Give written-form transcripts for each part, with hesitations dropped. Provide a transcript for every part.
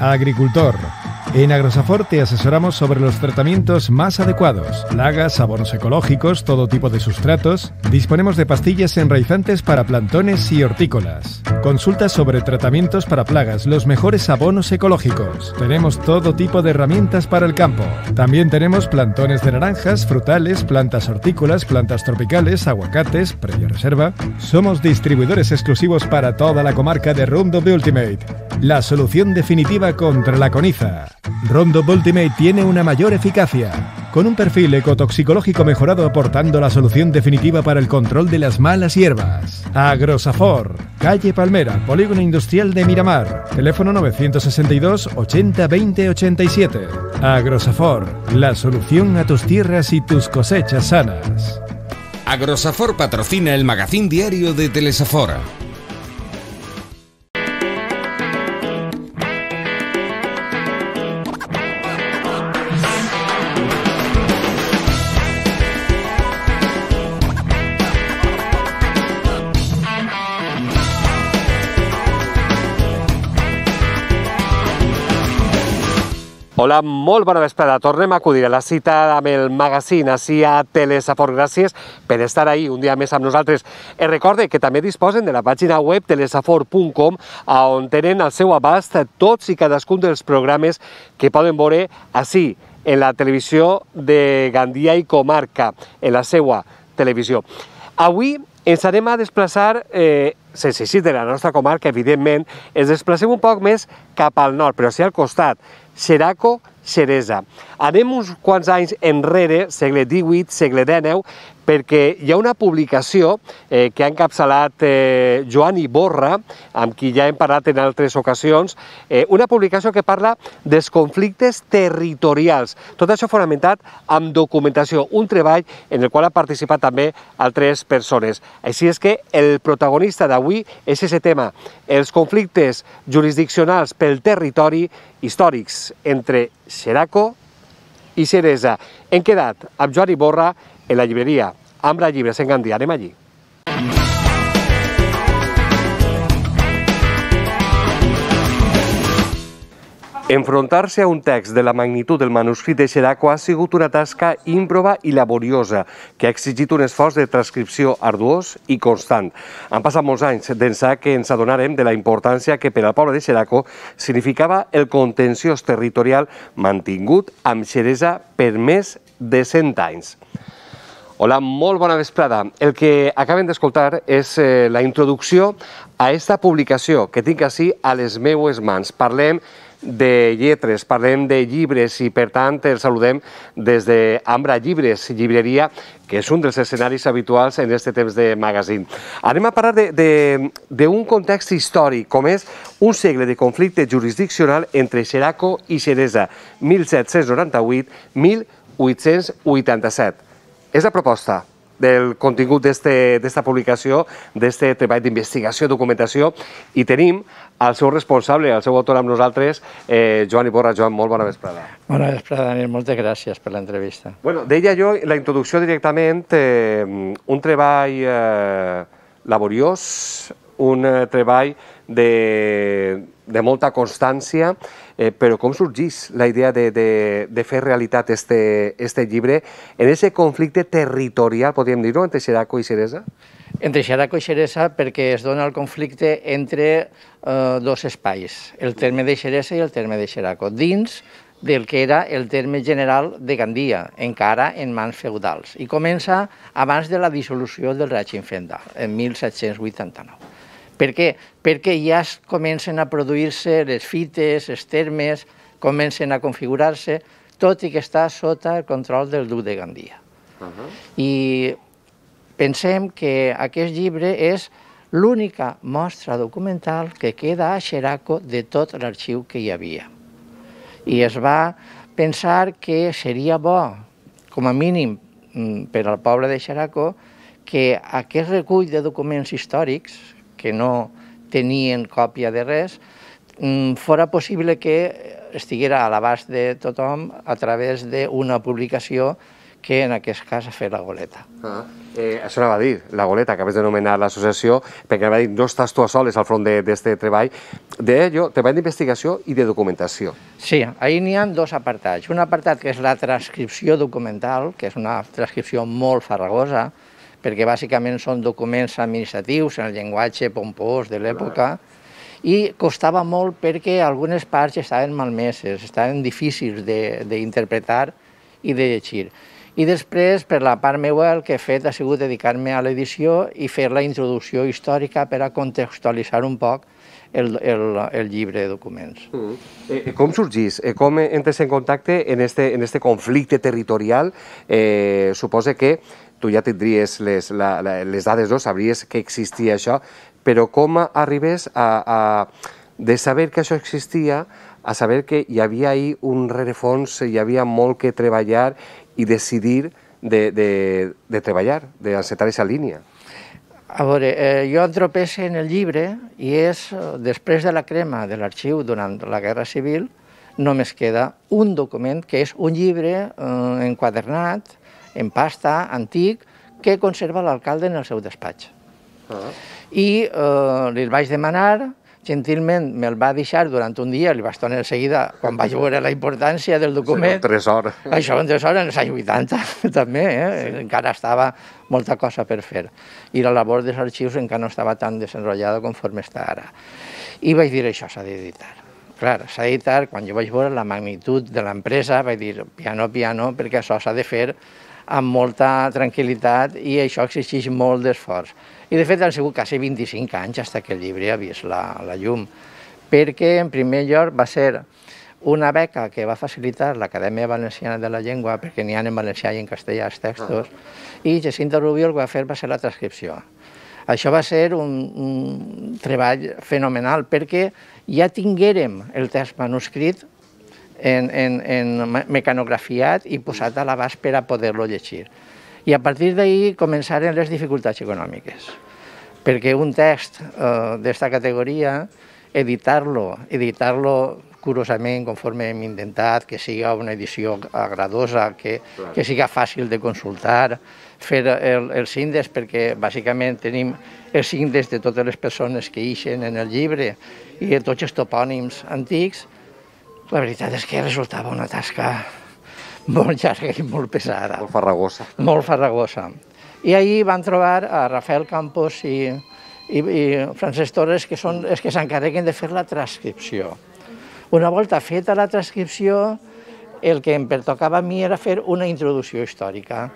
Agricultor. En Agrosafor te asesoramos sobre los tratamientos más adecuados, plagas, abonos ecológicos, todo tipo de sustratos. Disponemos de pastillas enraizantes para plantones y hortícolas. Consulta sobre tratamientos para plagas, los mejores abonos ecológicos. Tenemos todo tipo de herramientas para el campo. También tenemos plantones de naranjas, frutales, plantas hortícolas, plantas tropicales, aguacates, previa reserva. Somos distribuidores exclusivos para toda la comarca de Roundup Ultimate, la solución definitiva contra la coniza. Roundup Ultimate tiene una mayor eficacia, con un perfil ecotoxicológico mejorado aportando la solución definitiva para el control de las malas hierbas. Agrosafor, calle Palmera, Polígono Industrial de Miramar, teléfono 962 80 20 87. Agrosafor, la solución a tus tierras y tus cosechas sanas. Agrosafor patrocina el magazín diario de Telesafor. Hola, molt bona vesprada. Tornem a acudir a la cita amb el magazín ací a Telesafor. Gràcies per estar ahí un dia més amb nosaltres. Recorde que també disposen de la pàgina web telesafor.com, on tenen al seu abast tots i cadascun dels programes que poden veure ací, en la televisió de Gandia i Comarca, en la seva televisió. Avui ens anem a desplaçar, sense eixir de la nostra comarca, evidentment, ens desplacem un poc més cap al nord, però sí al costat, Xeraco, Xeresa. Anem uns quants anys enrere, segle XVIII, segle XIX, perquè hi ha una publicació que ha encapçalat Joan Iborra, amb qui ja hem parlat en altres ocasions, una publicació que parla dels conflictes territorials. Tot això fonamentat amb documentació, un treball en el qual han participat també altres persones. Així és que el protagonista d'avui és aquest tema, els conflictes jurisdiccionals pel territori històrics entre Xeraco i Xeresa. Hem quedat amb Joan Iborra en la llibreria Ambra Llibres en Gandia. Anem allí. Enfrontar-se a un text de la magnitud del manuscrit de Xeraco ha sigut una tasca ímproba i laboriosa, que ha exigit un esforç de transcripció arduós i constant. Han passat molts anys d'ençà que ens adonarem de la importància que per al poble de Xeraco significava el contenciós territorial mantingut amb Xeresa per més de 100 anys. Hola, molt bona vesprada. El que acaben d'escoltar és la introducció a esta publicació que tinc ací a les meues mans. Parlem de lletres, parlem de llibres i, per tant, els saludem des d'Ambra Llibres, llibreria, que és un dels escenaris habituals en aquest temps de magazín. Anem a parlar d'un context històric, com és un segle de conflicte jurisdiccional entre Xeraco i Xeresa, 1798-1887. És la proposta del contingut d'esta publicació, d'aquest treball d'investigació i documentació, i tenim el seu responsable, el seu autor amb nosaltres, Joan Iborra. Joan, molt bona vesprada. Bona vesprada, Daniel. Moltes gràcies per l'entrevista. Bueno, deia jo, la introducció directament, un treball laboriós, un treball de molta constància, però com sorgeix la idea de fer realitat este llibre en aquest conflicte territorial, podríem dir-ho, entre Xeraco i Xeresa? Entre Xeraco i Xeresa perquè es dona el conflicte entre dos espais, el terme de Xeresa i el terme de Xeraco, dins del que era el terme general de Gandia, encara en mans feudals, i comença abans de la dissolució del règim feudal, en 1789. Per què? Perquè ja comencen a produir-se les fites, els termes, comencen a configurar-se, tot i que està sota el control del duc de Gandia. I pensem que aquest llibre és l'única mostra documental que queda a Xeraco de tot l'arxiu que hi havia. I es va pensar que seria bo, com a mínim per al poble de Xeraco, que aquest recull de documents històrics, que no tenien còpia de res, fora possible que estiguera a l'abast de tothom a través d'una publicació que en aquest cas ha fet la goleta. Això anava a dir, la goleta, acabes d'anomenar l'associació, perquè anava a dir, no estàs tu a soles al front d'aquest treball, treball d'investigació i de documentació. Sí, ahir n'hi ha dos apartats. Un apartat que és la transcripció documental, que és una transcripció molt farragosa, perquè bàsicament són documents administratius en el llenguatge pompós de l'època, i costava molt perquè algunes parts estaven malmeses, estaven difícils d'interpretar i de llegir. I després, per la part meva, el que he fet ha sigut dedicar-me a l'edició i fer la introducció històrica per a contextualitzar un poc el llibre de documents. Com sorgís? Com entres en contacte en este conflicte territorial? Suposa que tu ja tindries les dades, no? Sabries que existia això, però com arribes de saber que això existia a saber que hi havia ahí un rerefons, hi havia molt que treballar i decidir de treballar, d'encetar aquesta línia? A veure, jo entropesse en el llibre i és, després de la crema de l'arxiu durant la Guerra Civil, només queda un document, que és un llibre enquadernat, en pasta, antic, que conserva l'alcalde en el seu despatx. I li vaig demanar, gentilment me'l va deixar durant un dia, li vaig tornar de seguida, quan vaig veure la importància del document. Això és un tresor. Això és un tresor en els anys 80, també, encara estava molta cosa per fer. I la labor dels arxius encara no estava tan desenrotllada conforme està ara. I vaig dir, això s'ha d'editar. Clar, s'ha d'editar, quan jo vaig veure la magnitud de l'empresa, vaig dir, piano, piano, perquè això s'ha de fer amb molta tranquil·litat i això exigeix molt d'esforç. I de fet han sigut quasi 25 anys fins que el llibre ha vist la llum, perquè en primer lloc va ser una beca que va facilitar l'Acadèmia Valenciana de la Llengua, perquè n'hi ha en valencià i en castellà els textos, i Jacinto Rubio el que va fer va ser la transcripció. Això va ser un treball fenomenal, perquè ja tinguérem el text manuscrit en mecanografiat i posat a l'abast per a poder-lo llegir. I a partir d'ahir començaren les dificultats econòmiques, perquè un text d'esta categoria, editar-lo curosament, conforme hem intentat, que siga una edició agradosa, que siga fàcil de consultar, fer els índexs, perquè bàsicament tenim els índexs de totes les persones que ixen en el llibre i de tots els topònims antics. La veritat és que resultava una tasca molt llarga i molt pesada. Molt farragosa. Molt farragosa. I ahir van trobar a Rafael Campos i Francesc Torres, que són els que s'encarreguen de fer la transcripció. Una volta feta la transcripció, el que em pertocava a mi era fer una introducció històrica.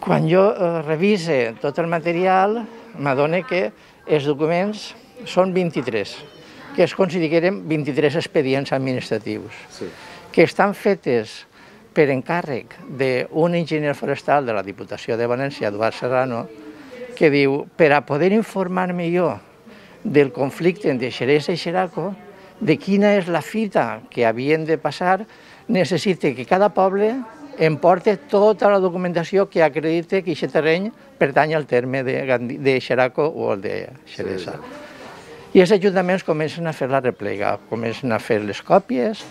Quan jo revise tot el material, m'adono que els documents són 23, que es consideren 23 expedients administratius, que estan fetes per encàrrec d'un enginyer forestal de la Diputació de València, Eduard Serrano, que diu, per a poder informar-me jo del conflicte entre Xeresa i Xeraco, de quina és la fita que havien de passar, necessita que cada poble em porti tota la documentació que acredite que aquest terreny pertany al terme de Xeraco o el de Xeresa. I els ajuntaments comencen a fer la replega, comencen a fer les còpies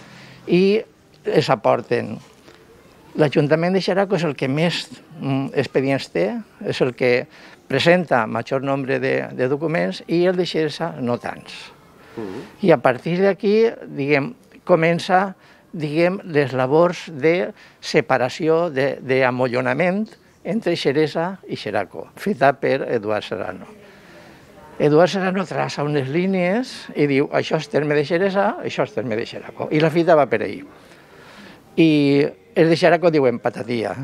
i les aporten. L'Ajuntament de Xeraco és el que més expedients té, és el que presenta major nombre de documents i el de Xeresa no tants. I a partir d'aquí, comença les labors de separació, d'amollonament entre Xeresa i Xeraco, feta per Eduard Serrano. Eduard Serrano traça unes línies i diu, això és terme de Xeresa, això és terme de Xeraco. I la fita va per ahí. I els de Xeraco diuen patatia,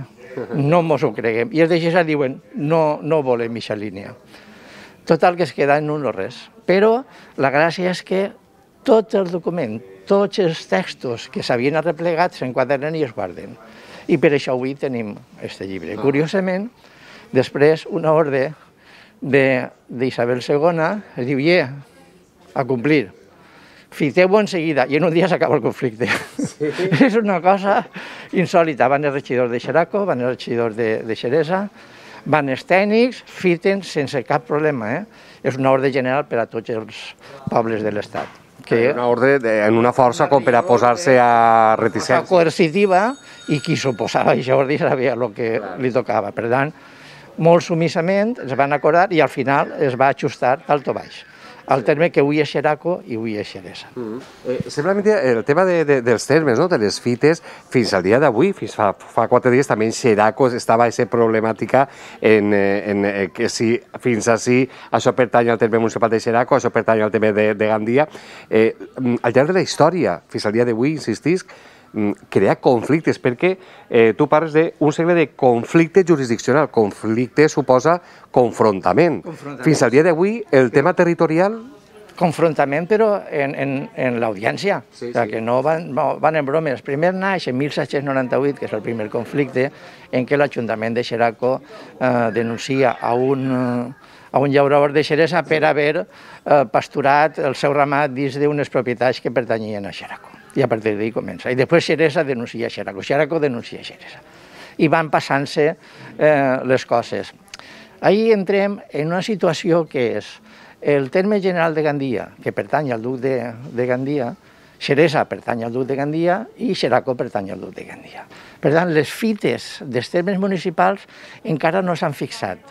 no mos ho creguem. I els de Xeresa diuen, no volem aquesta línia. Total, que es queda en un o res. Però la gràcia és que tot el document, tots els textos que s'havien arreplegat s'enquadernen i es guarden. I per això avui tenim aquest llibre. Curiosament, després una ordre d'Isabel II es diu, a complir, fiteu-ho en seguida, i en un dia s'acaba el conflicte. És una cosa insòlita. Van els regidors de Xeraco, van els regidors de Xeresa, van els tècnics, fiten sense cap problema. És una ordre general per a tots els pobles de l'Estat. Una ordre en una força com per a posar-se a reticència. Coercitiva, i qui s'oposava a això ordre sabia el que li tocava. Per tant, molt sumissament es van acordar i al final es va ajustar alt o baix al terme que avui és Xeraco i avui és Xeresa. Simplement el tema dels termes, de les fites, fins al dia d'avui, fins fa 4 dies, també en Xeraco estava aquesta problemàtica que si fins així això pertany al terme municipal de Xeraco, això pertany al terme de Gandia. Al llarg de la història, fins al dia d'avui, insistisc, crear conflictes, perquè tu parles d'un segle de conflicte jurisdiccional. Conflicte suposa confrontament. Fins al dia d'avui, el tema territorial... Confrontament, però en l'audiència, que no van en bromes. Primer naix en 1798, que és el primer conflicte, en què l'Ajuntament de Xeraco denuncia a un llaurador de Xeresa per haver pasturat el seu ramat dins d'unes propietats que pertanyien a Xeraco. I a partir d'ahí comença. I després Xeresa denuncia Xeraco, Xeraco denuncia Xeresa. I van passant-se les coses. Ahir entrem en una situació que és el terme general de Gandia, que pertany al duc de Gandia, Xeresa pertany al duc de Gandia i Xeraco pertany al duc de Gandia. Per tant, les fites dels termes municipals encara no s'han fixat.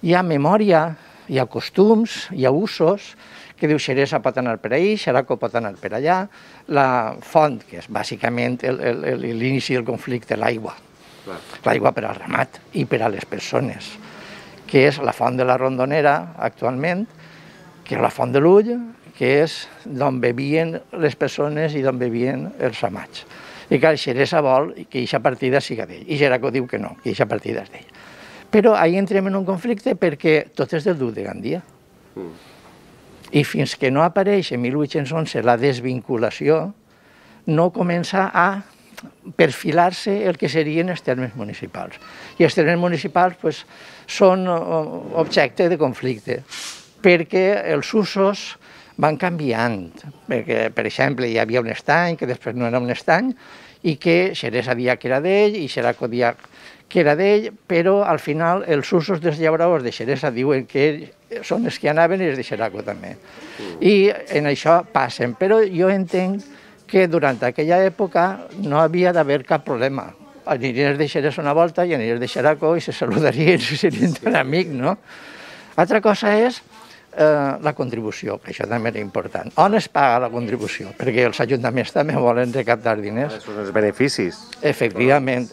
Hi ha memòria, hi ha costums, hi ha usos, que diu Xeresa pot anar per ahí, Xeraco pot anar per allà, la font, que és bàsicament l'inici del conflicte, l'aigua. L'aigua per al ramat i per a les persones, que és la font de la Rondonera actualment, que és la font de l'Ull, que és d'on bevien les persones i d'on bevien els ramats. I clar, Xeresa vol que aquesta partida siga d'ell, i Xeraco diu que no, que aquesta partida és d'ell. Però ahir entrem en un conflicte perquè tot és del duc de Gandia. I fins que no apareix en 1811 la desvinculació, no comença a perfilar-se el que serien els termes municipals. I els termes municipals són objecte de conflicte, perquè els usos van canviant. Perquè, per exemple, hi havia un estany, que després no era un estany, i que Xeresa dia que era d'ell i Xeraco dia que era d'ell, però al final els usos dels llauradors de Xeresa diuen que són els que anaven i els de Xeraco també. I en això passen, però jo entenc que durant aquella època no havia d'haver cap problema. Anirien els de Xeresa una volta i anirien els de Xeraco i se saludarien i serien tan amics, no? Altra cosa és la contribució, que això també era important. On es paga la contribució? Perquè els ajuntaments també volen recaptar diners. Són els beneficis. Efectivament,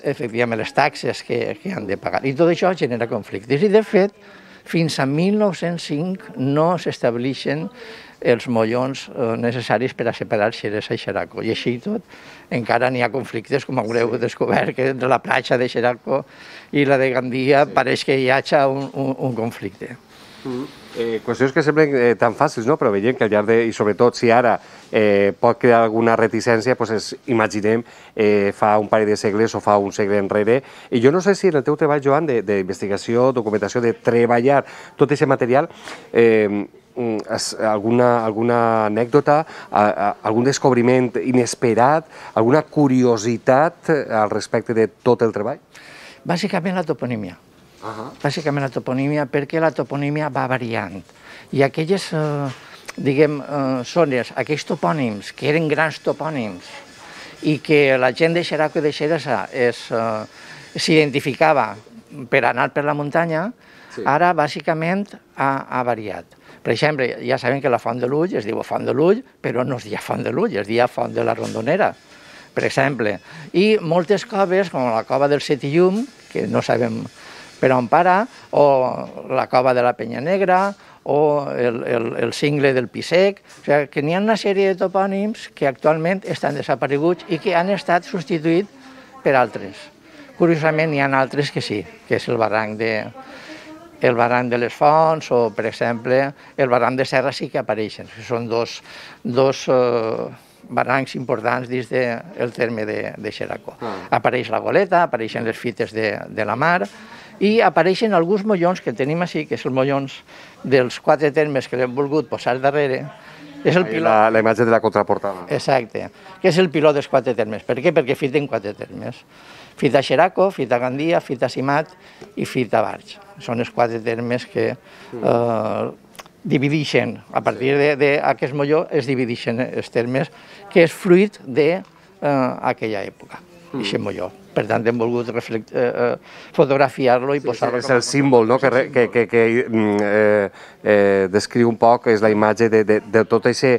les taxes que han de pagar. I tot això genera conflictes. I, de fet, fins a 1905 no s'estableixen els mollons necessaris per a separar Xeresa i Xeraco. I així tot, encara n'hi ha conflictes, com haureu descobert, que entre la platja de Xeraco i la de Gandia pareix que hi hagi un conflicte. Qüestions que semblen tan fàcils, no? Però veiem que al llarg de... I sobretot si ara pot crear alguna reticència, doncs imaginem fa un parell de segles o fa un segle enrere. I jo no sé si en el teu treball, Joan, d'investigació, documentació, de treballar tot aquest material, alguna anècdota, algun descobriment inesperat, alguna curiositat al respecte de tot el treball? Bàsicament la toponímia. Bàsicament la toponímia, perquè la toponímia va variant. I aquelles, zones, aquells topònims, que eren grans topònims, i que la gent de Xeraco i de Xeresa s'identificava per anar per la muntanya, ara bàsicament ha variat. Per exemple, ja sabem que la Font de l'Ull es diu Font de l'Ull, però no es dia Font de l'Ull, es dia Font de la Rondonera, per exemple. I moltes coves, com la cova del Setillum, que no sabem per on para, o la cova de la Penya Negra, o el cingle del Pisec, o sigui, que n'hi ha una sèrie de topònims que actualment estan desapareguts i que han estat substituïts per altres. Curiosament, n'hi ha altres que sí, que és el barranc de les Fonts o, per exemple, el barranc de Serra sí que apareixen. Són dos barrancs importants dins del terme de Xeraco. Apareix la Goleta, apareixen les fites de la mar i apareixen alguns mollons que tenim així, que són mollons dels 4 termes que l'hem volgut posar darrere. La imatge de la contraportada. Exacte, que és el piló dels 4 termes. Per què? Perquè fita en 4 termes. Fita Xeraco, fita Gandia, fita Simat i fita Barx. Són els 4 termes que divideixen, a partir d'aquest molló es divideixen els termes, que és fruit d'aquella època, aquest molló. Per tant, hem volgut fotografiar-lo i posar-lo... És el símbol, no?, que descriu un poc, és la imatge de tot això,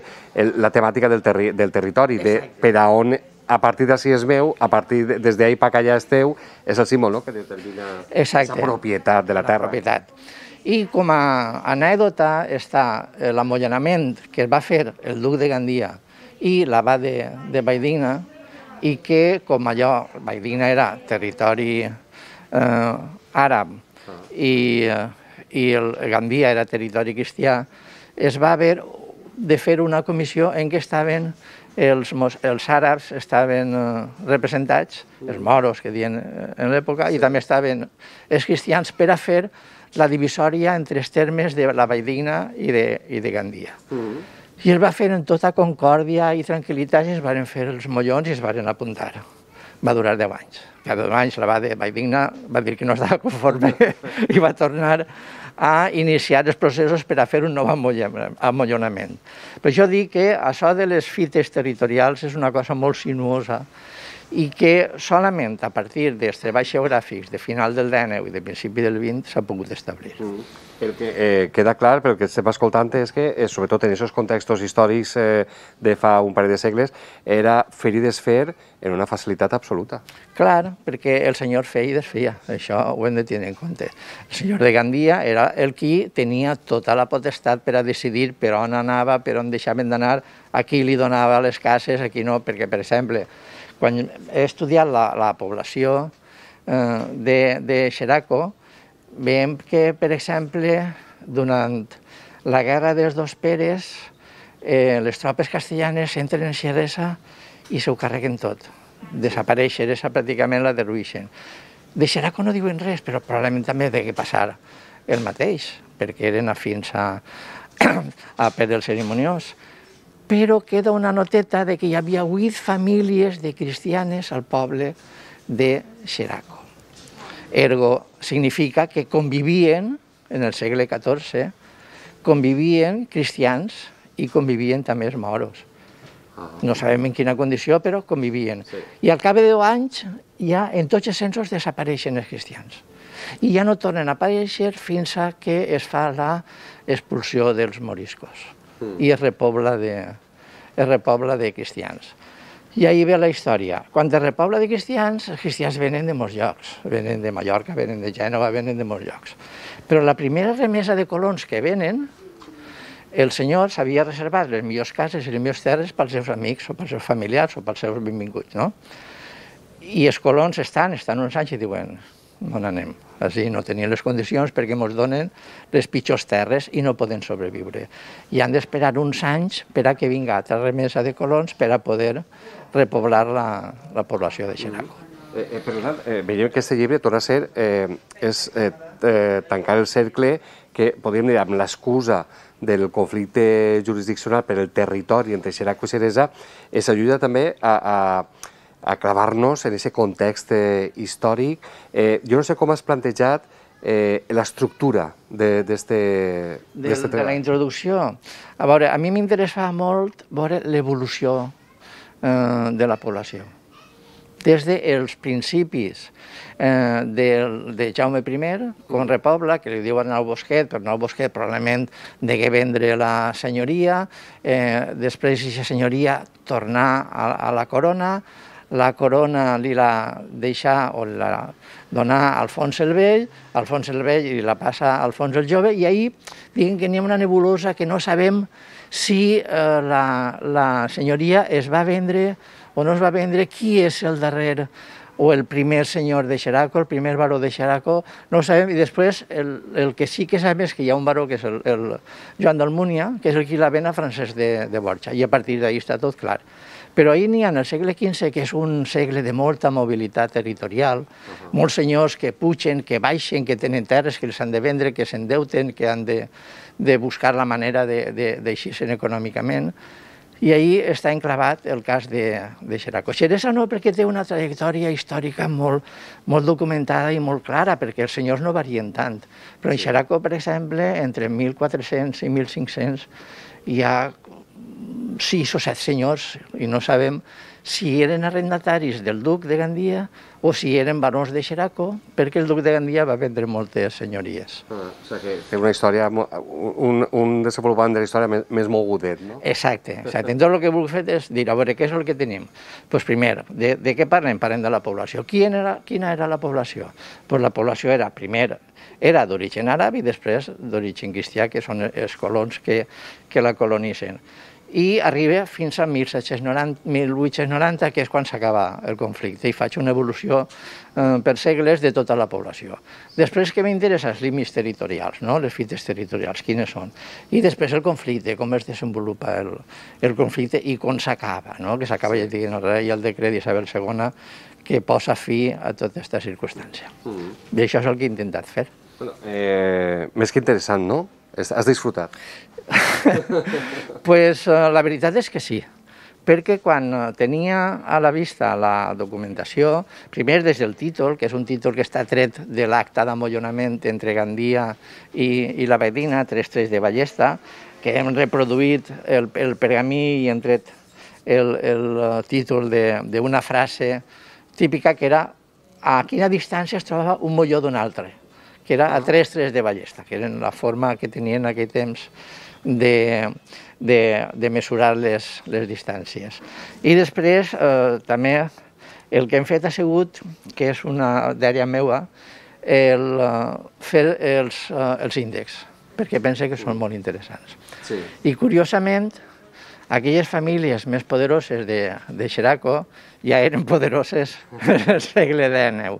la temàtica del territori, per a on, a partir d'ací és meu, a partir des d'ahí per allà és teu, és el símbol, no?, que determina la propietat de la terra. I com a anècdota està l'amollanament que va fer el duc de Gandia i l'abat de Valldigna, i que, com allò, Valldigna era territori àrab i Gandia era territori cristià, es va haver de fer una comissió en què estaven els àrabs estaven representats, els moros que diuen en l'època, i també estaven els cristians per a fer la divisòria entre els termes de la Valldigna i de Gandia. I es va fer en tota concòrdia i tranquil·litat i es van fer els mollons i es van apuntar. Va durar 10 anys. Cada 10 anys l'abat de Valldigna va dir que no estava conforme i va tornar a iniciar els processos per a fer un nou amollonament. Per això dic que això de les fites territorials és una cosa molt sinuosa i que solament a partir dels treballs geogràfics de final del XIX i de principi del XX s'ha pogut establir. El que queda clar, pel que estem escoltant, és que, sobretot en aquests contextos històrics de fa un parell de segles, era fer i desfer en una facilitat absoluta. Clar, perquè el senyor feia i desfeia, això ho hem de tenir en compte. El senyor de Gandia era el qui tenia tota la potestat per a decidir per on anava, per on deixaven d'anar, a qui li donava les cases, a qui no, perquè, per exemple, quan he estudiat la població de Xeraco, veiem que, per exemple, durant la guerra dels dos Peres, les tropes castellanes entren en Xeresa i s'ho carreguen tot. Desapareix Xeresa, pràcticament la derruïxen. De Xeraco no diuen res, però probablement també degué passar el mateix, perquè eren afins a Pere el Cerimoniós. Però queda una noteta de que hi havia 8 famílies de cristianes al poble de Xeraco. Ergo, significa que convivien, en el segle XIV, convivien cristians i convivien també els moros. No sabem en quina condició, però convivien. I al cap de 10 anys, ja en tots els censos desapareixen els cristians. I ja no tornen a aparèixer fins a que es fa l'expulsió dels moriscos i es repobla de cristians. I ahí ve la història. Quan es repobla de cristians, els cristians venen de molts llocs. Venen de Mallorca, venen de Gènova, venen de molts llocs. Però la primera remesa de colons que venen, el senyor s'havia reservat les millors cases i les millors terres pels seus amics o pels seus familiars o pels seus benvinguts, no? I els colons estan uns anys i diuen, on anem? Així no tenien les condicions perquè ens donen les pitjors terres i no poden sobreviure. I han d'esperar uns anys per a que vinga altra remesa de colons per a poder repoblar la població de Xeraco. Per tant, veiem que aquest llibre torna a ser tancar el cercle que, podríem dir, amb l'excusa del conflicte jurisdiccional per el territori entre Xeraco i Xeresa, ens ajuda també a clavar-nos en aquest context històric. Jo no sé com has plantejat l'estructura d'aquest treball. De la introducció. A veure, a mi m'interessava molt veure l'evolució de la població. Des dels principis de Jaume I, com repobla, que li diuen Arnau Bosquet, però Arnau Bosquet probablement degué vendre la senyoria, després aquesta senyoria tornar a la corona li la deixar o la donar a Alfons el Vell i la passa a Alfons el Jove, i ahir diguem que n'hi ha una nebulosa que no sabem si la senyoria es va vendre o no es va vendre, qui és el darrer o el primer senyor de Xeraco, el primer baró de Xeraco, no ho sabem, i després el que sí que sabem és que hi ha un baró que és el Joan d'Almúnia, que és el qui la ven a Francesc de Borja, i a partir d'ahir està tot clar. Però ahir n'hi ha en el segle XV, que és un segle de molta mobilitat territorial, molts senyors que pugen, que baixen, que tenen terres, que els han de vendre, que s'endeuten, que han de buscar la manera d'eixir-se'n econòmicament. I ahí està enclavat el cas de Xeraco. Xeresa no, perquè té una trajectòria històrica molt documentada i molt clara, perquè els senyors no varien tant. Però en Xeraco, per exemple, entre 1.400 i 1.500 hi ha 6 o 7 senyors, i no sabem si eren arrendataris del duc de Gandia o si eren barons de Xeraco, perquè el duc de Gandia va vendre moltes senyories. O sigui que té una història, un desenvolupament de la història més mogudet, no? Exacte. Entonces el que vull fer és dir, a veure, què és el que tenim? Doncs primer, de què parlem? Parlem de la població. Quina era la població? Doncs la població era, primer, era d'origen àrab i després d'origen cristià, que són els colons que la colonitzen. I arriba fins a 1890, que és quan s'acaba el conflicte, i faig una evolució per segles de tota la població. Després, què m'interessa? Els límits territorials, les fites territorials, quines són. I després el conflicte, com es desenvolupa el conflicte i com s'acaba, que s'acaba, ja dient, el rei i el decret d'Isabel II, que posa fi a tota aquesta circumstància. I això és el que he intentat fer. Més que interessant, no? Has disfrutat? Pues la veritat és que sí, perquè quan tenia a la vista la documentació, primer des del títol, que és un títol que està tret de l'acta d'amollonament entre Gandia i la veïna, 3-3 de Ballesta, que hem reproduït el pergamí i hem tret el títol d'una frase típica que era a quina distància es trobava un molló d'un altre, que era a 3-3 de Ballesta, que era la forma que tenien en aquell temps de mesurar les distàncies. I després també el que hem fet ha sigut, que és una dèria meua, fer els índexs, perquè pense que són molt interessants. I curiosament, aquelles famílies més poderoses de Xeraco ja eren poderoses al segle XIX.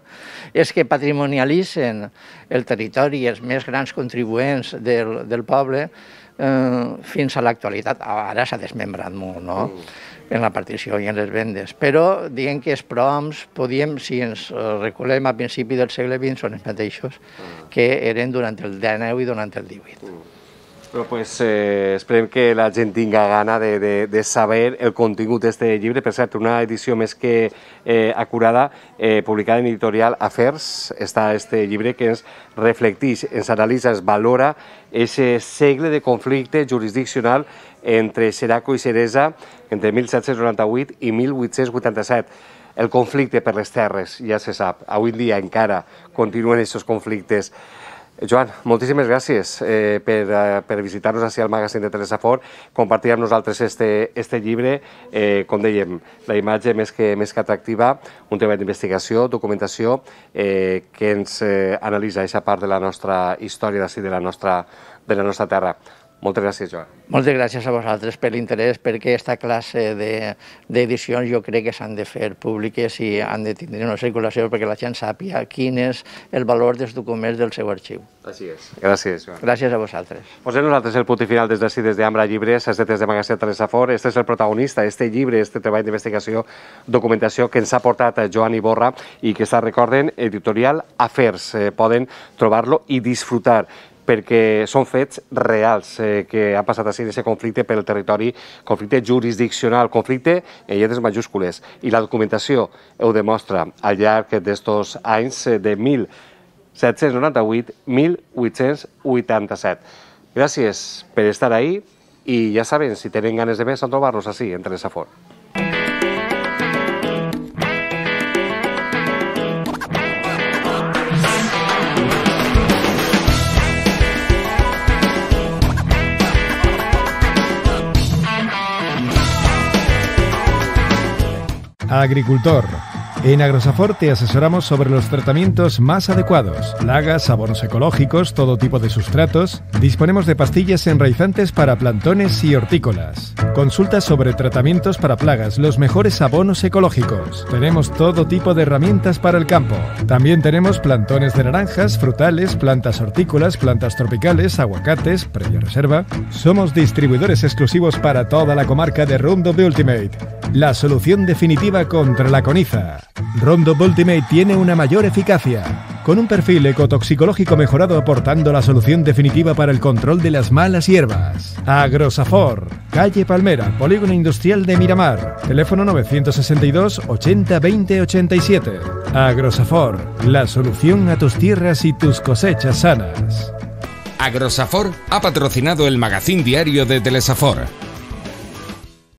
És que patrimonialitzen el territori i els més grans contribuents del poble fins a l'actualitat. Ara s'ha desmembrat molt, no?, en la partició i en les vendes. Però diguem que els prohoms podíem, si ens recolem a principi del segle XX, són els mateixos que eren durant el XIX i durant el XVIII. Però esperem que la gent tinga gana de saber el contingut d'aquest llibre. Per cert, una edició més que acurada, publicada en editorial Afers, està aquest llibre que ens reflecteix, ens analitza, ens valora aquest segle de conflicte jurisdiccional entre Xeraco i Xeresa entre 1798 i 1887. El conflicte per les terres, ja se sap, avui en dia encara continuen aquests conflictes. Joan, moltíssimes gràcies per visitar-nos ací al magazín de Telesafor, compartir amb nosaltres este llibre, com dèiem, la imatge més que atractiva, un treball d'investigació, documentació, que ens analitza aquesta part de la nostra història d'ací, de la nostra terra. Moltes gràcies, Joan. Moltes gràcies a vosaltres per l'interès, perquè aquesta classe d'edicions jo crec que s'han de fer públiques i han de tindre una circulació perquè la gent sàpiga quin és el valor dels documents del seu arxiu. Així és. Gràcies, Joan. Gràcies a vosaltres. Posem nosaltres el punt final des d'ací, des d'Ambra Llibres, des de Magazín Telesafor. Este és el protagonista, este llibre, este treball d'investigació, documentació que ens ha portat Joan Iborra i que està, recorden, editorial Afers. Poden trobar-lo i disfrutar, perquè són fets reals que han passat així d'aquest conflicte pel territori, conflicte jurisdiccional, conflicte en lletres majúscules. I la documentació ho demostra al llarg d'estos anys de 1798-1887. Gràcies per estar ahí i ja saben, si tenen ganes de més, a trobar-nos així, en Telesafor. Agricultor. En Agrosafor te asesoramos sobre los tratamientos más adecuados. Plagas, abonos ecológicos, todo tipo de sustratos. Disponemos de pastillas enraizantes para plantones y hortícolas. Consulta sobre tratamientos para plagas, los mejores abonos ecológicos. Tenemos todo tipo de herramientas para el campo. También tenemos plantones de naranjas, frutales, plantas hortícolas, plantas tropicales, aguacates, previa reserva. Somos distribuidores exclusivos para toda la comarca de Roundup Ultimate, la solución definitiva contra la coniza. Roundup Ultimate tiene una mayor eficacia. con un perfil ecotoxicológico mejorado aportando la solución definitiva para el control de las malas hierbas. Agrosafor, calle Palmera, Polígono Industrial de Miramar, teléfono 962 80 20 87. Agrosafor, la solución a tus tierras y tus cosechas sanas. Agrosafor ha patrocinado el magazín diario de Telesafor.